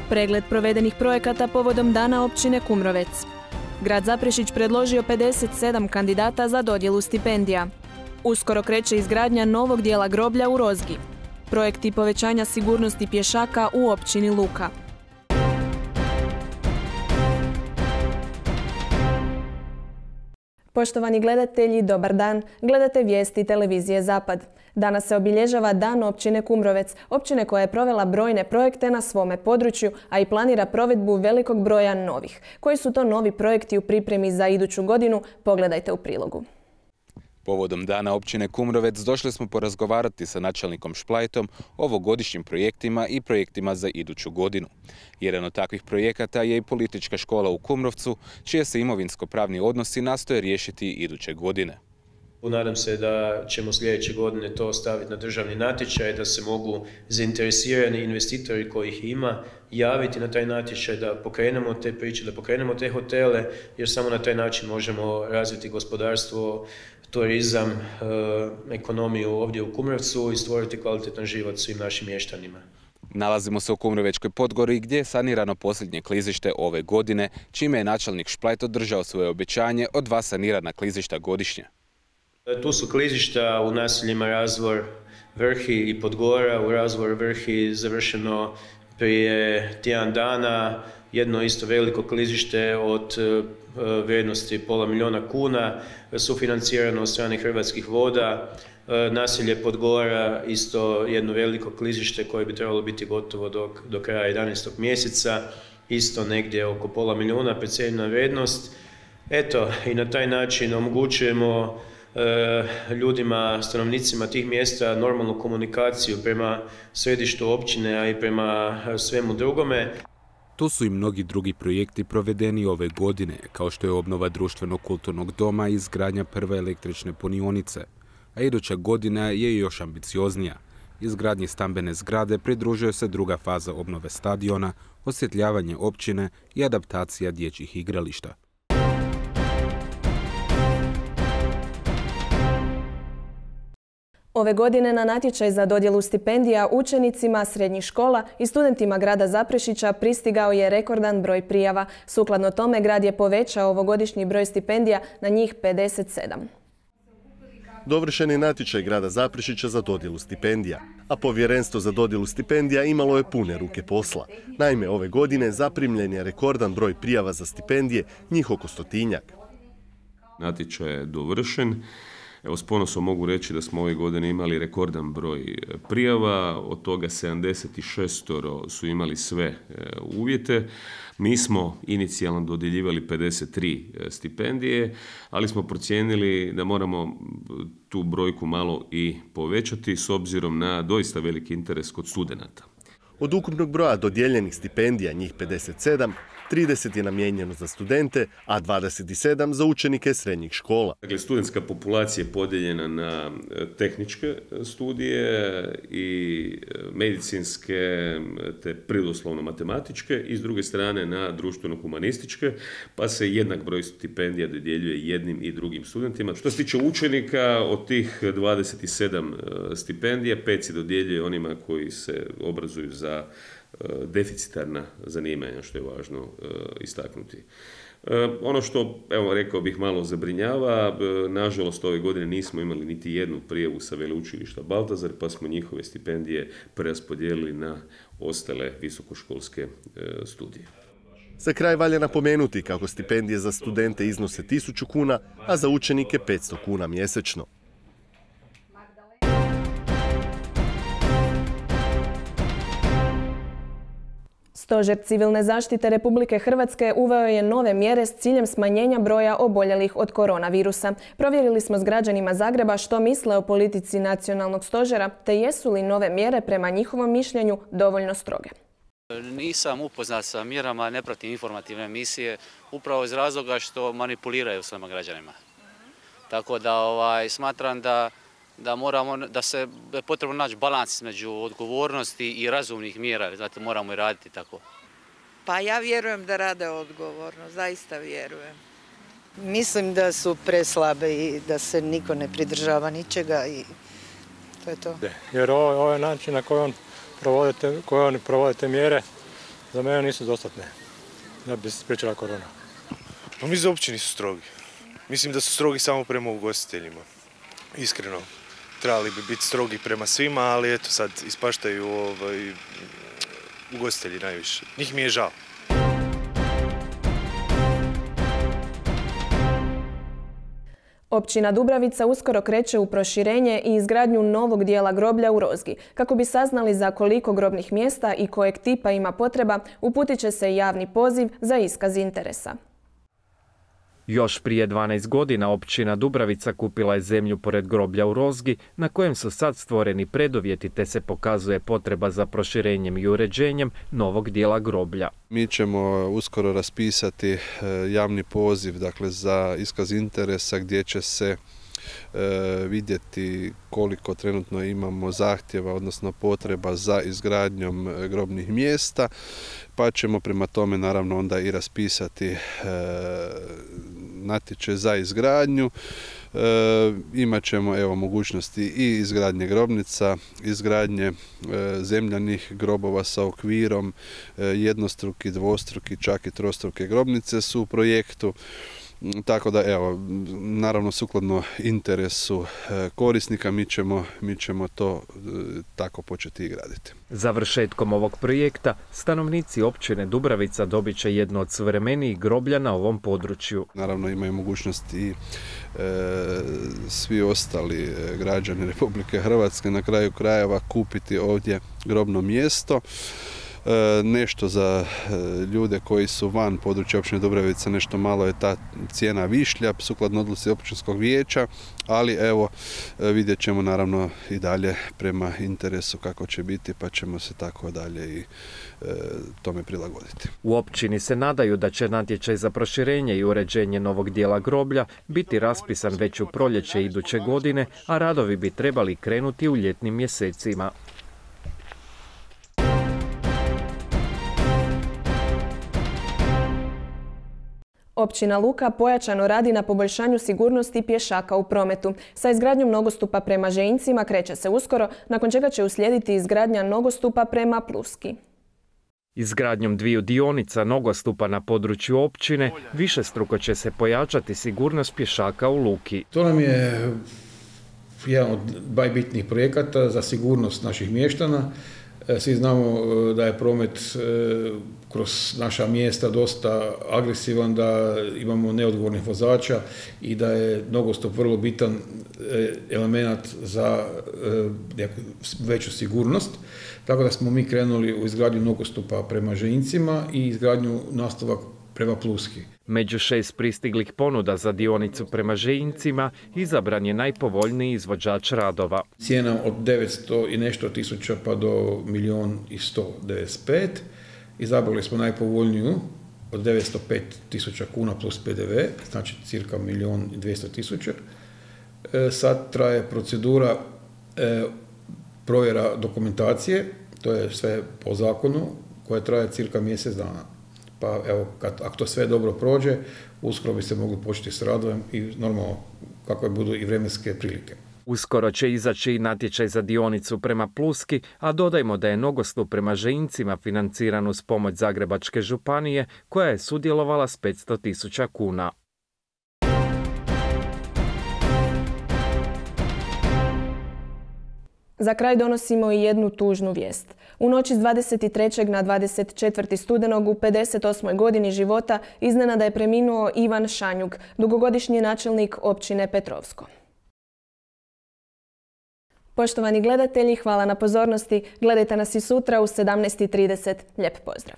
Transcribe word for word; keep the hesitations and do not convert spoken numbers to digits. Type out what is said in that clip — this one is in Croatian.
Pregled provedenih projekata povodom Dana općine Kumrovec. Grad Zaprešić predložio pedeset sedam kandidata za dodjelu stipendija. Uskoro kreće izgradnja novog dijela groblja u Rozgi. Projekti povećanja sigurnosti pješaka u općini Luka. Poštovani gledatelji, dobar dan. Gledate vijesti televizije Zapad. Danas se obilježava Dan općine Kumrovec, općine koja je provela brojne projekte na svome području, a i planira provedbu velikog broja novih. Koji su to novi projekti u pripremi za iduću godinu? Pogledajte u prilogu. Povodom Dana općine Kumrovec došli smo porazgovarati sa načelnikom Šplajtom o ovogodišnjim projektima i projektima za iduću godinu. Jedan od takvih projekata je i politička škola u Kumrovcu, čije se imovinsko-pravni odnosi nastoje riješiti iduće godine. Nadam se da ćemo sljedeće godine to staviti na državni natječaj, da se mogu zainteresirani investitori kojih ima javiti na taj natječaj, da pokrenemo te priče, da pokrenemo te hotele, jer samo na taj način možemo razviti gospodarstvo, turizam, ekonomiju ovdje u Kumrovcu i stvoriti kvalitetan život svim našim mještanima. Nalazimo se u Kumrovečkoj Podgori gdje je sanirano posljednje klizište ove godine, čime je načelnik Šplajt održao svoje obećanje od dva sanirana klizišta godišnje. Tu su klizišta u naseljima Razvor, Vrhi i Podgora. U Razvor Vrhi završeno prije tjedan dana, jedno isto veliko klizište od vrijednosti pola milijuna kuna, sufinancirano od strane Hrvatskih voda. Naselje Podgora, isto jedno veliko klizište koje bi trebalo biti gotovo do, do kraja jedanaestog mjeseca, isto negdje oko pola milijuna, precijenjena vrijednost. Eto, i na taj način omogućujemo ljudima, stanovnicima tih mjesta normalnu komunikaciju prema središtu općine, a i prema svemu drugome. Tu su i mnogi drugi projekti provedeni ove godine, kao što je obnova društvenog kulturnog doma i izgradnja prve električne punionice. A iduća godina je još ambicioznija. Izgradnji stambene zgrade pridružuje se druga faza obnove stadiona, osvjetljavanje općine i adaptacija dječjih igrališta. Ove godine na natječaj za dodjelu stipendija učenicima srednjih škola i studentima grada Zaprešića pristigao je rekordan broj prijava. Sukladno tome, grad je povećao ovogodišnji broj stipendija na njih pedeset sedam. Dovršen je natječaj grada Zaprešića za dodjelu stipendija, a povjerenstvo za dodjelu stipendija imalo je pune ruke posla. Naime, ove godine zaprimljen je rekordan broj prijava za stipendije, njih oko stotinjak. Natječaj je dovršen. Evo, s ponosom mogu reći da smo ove godine imali rekordan broj prijava, od toga sedamdeset šest su imali sve uvjete. Mi smo inicijalno dodjeljivali pedeset tri stipendije, ali smo procijenili da moramo tu brojku malo i povećati s obzirom na doista veliki interes kod studenata. Od ukupnog broja dodijeljenih stipendija, njih pedeset sedam, trideset je namijenjeno za studente, a dvadeset sedam za učenike srednjih škola. Dakle, studentska populacija je podijeljena na tehničke studije i medicinske te prirodoslovno-matematičke i s druge strane na društveno-humanističke, pa se jednak broj stipendija dodjeljuje jednim i drugim studentima. Što se tiče učenika, od tih dvadeset sedam stipendija, pet se dodjeljuje onima koji se obrazuju za deficitarna zanimanja, što je važno uh, istaknuti. Uh, ono što, evo, rekao bih, malo zabrinjava, uh, nažalost ove godine nismo imali niti jednu prijavu sa veleučilišta Baltazar, pa smo njihove stipendije preraspodijelili na ostale visokoškolske uh, studije. Za kraj valja napomenuti kako stipendije za studente iznose tisuću kuna, a za učenike petsto kuna mjesečno. Stožer civilne zaštite Republike Hrvatske uveo je nove mjere s ciljem smanjenja broja oboljelih od koronavirusa. Provjerili smo s građanima Zagreba što misle o politici nacionalnog stožera, te jesu li nove mjere prema njihovom mišljenju dovoljno stroge. Nisam upoznat sa mjerama, ne pratim informativne emisije, upravo iz razloga što manipuliraju svema građanima. Tako da ovaj, smatram da da moramo, da se da je potrebno naći balans između odgovornosti i razumnih mjera, znate, moramo i raditi tako. Pa ja vjerujem da rade odgovorno, zaista vjerujem. Mislim da su preslabe i da se niko ne pridržava ničega i to je to. Jer ovo, ovo je način na koji on provodite, koje oni provodite mjere, Za mene nisu dostatne da bi se spriječila korona. Pa mislim da uopće nisu strogi. Mislim da su strogi samo prema ugostiteljima. Iskreno. Trebali bi biti strogi prema svima, ali eto sad ispaštaju ovaj, ugostitelji najviše. Njih mi je žao. Općina Dubravica uskoro kreće u proširenje i izgradnju novog dijela groblja u Rozgi. Kako bi saznali za koliko grobnih mjesta i kojeg tipa ima potreba, uputit će se javni poziv za iskaz interesa. Još prije dvanaest godina općina Dubravica kupila je zemlju pored groblja u Rozgi, na kojem su sad stvoreni preduvjeti te se pokazuje potreba za proširenjem i uređenjem novog dijela groblja. Mi ćemo uskoro raspisati javni poziv, dakle, za iskaz interesa gdje će se vidjeti koliko trenutno imamo zahtjeva, odnosno potreba za izgradnjom grobnih mjesta, pa ćemo prema tome naravno onda i raspisati natječaj za izgradnju. E, imat ćemo evo mogućnosti i izgradnje grobnica, izgradnje e, zemljanih grobova sa okvirom, e, jednostruki, dvostruki, čak i trostruke grobnice su u projektu. Tako da, evo, naravno sukladno interesu korisnika mi ćemo, mi ćemo to tako početi i graditi. Završetkom ovog projekta stanovnici općine Dubravica dobit će jedno od suvremenijih groblja na ovom području. Naravno imaju mogućnost i e, svi ostali građani Republike Hrvatske na kraju krajeva kupiti ovdje grobno mjesto. Nešto za ljude koji su van područja općine Dubravica, nešto malo je ta cijena višlja sukladno odluci općinskog vijeća, ali evo vidjet ćemo naravno i dalje prema interesu kako će biti, pa ćemo se tako dalje i e, tome prilagoditi. U općini se nadaju da će natječaj za proširenje i uređenje novog dijela groblja biti raspisan već u proljeće iduće godine, a radovi bi trebali krenuti u ljetnim mjesecima. Općina Luka pojačano radi na poboljšanju sigurnosti pješaka u prometu. Sa izgradnjom nogostupa prema Žejincima kreće se uskoro, nakon čega će uslijediti izgradnja nogostupa prema Pluski. Izgradnjom dviju dionica nogostupa na području općine višestruko će se pojačati sigurnost pješaka u Luki. To nam je jedan od najbitnijih projekata za sigurnost naših mještana. Svi znamo da je promet kroz naša mjesta dosta agresivan, da imamo neodgovornih vozača i da je nogostup vrlo bitan element za veću sigurnost. Tako da smo mi krenuli u izgradnju nogostupa prema Žejincima i izgradnju nastavak prema Pluski. Među šest pristiglih ponuda za dionicu prema Žejincima izabran je najpovoljniji izvođač radova. Cijena od devetsto i nešto tisuća pa do milijun i sto devedeset pet. Izabrali smo najpovoljniju od devetsto pet tisuća kuna plus P D V, znači cirka milijun i dvjesto tisuća. E, sad traje procedura e, provjera dokumentacije, to je sve po zakonu, koja traje cirka mjesec dana. Pa evo, kad, ako to sve dobro prođe, uskoro bi se mogli početi s radom i normalno kakve budu i vremenske prilike. Uskoro će izaći i natječaj za dionicu prema Pluski, a dodajmo da je nogostup prema Žejincima financiran uz pomoć Zagrebačke županije, koja je sudjelovala s petsto tisuća kuna. Za kraj donosimo i jednu tužnu vijest. U noći s dvadeset trećeg na dvadeset četvrti studenog u pedeset osmoj godini života iznenada je preminuo Ivan Šanjuk, dugogodišnji načelnik općine Petrovsko. Poštovani gledatelji, hvala na pozornosti. Gledajte nas i sutra u sedamnaest i trideset. Lijep pozdrav!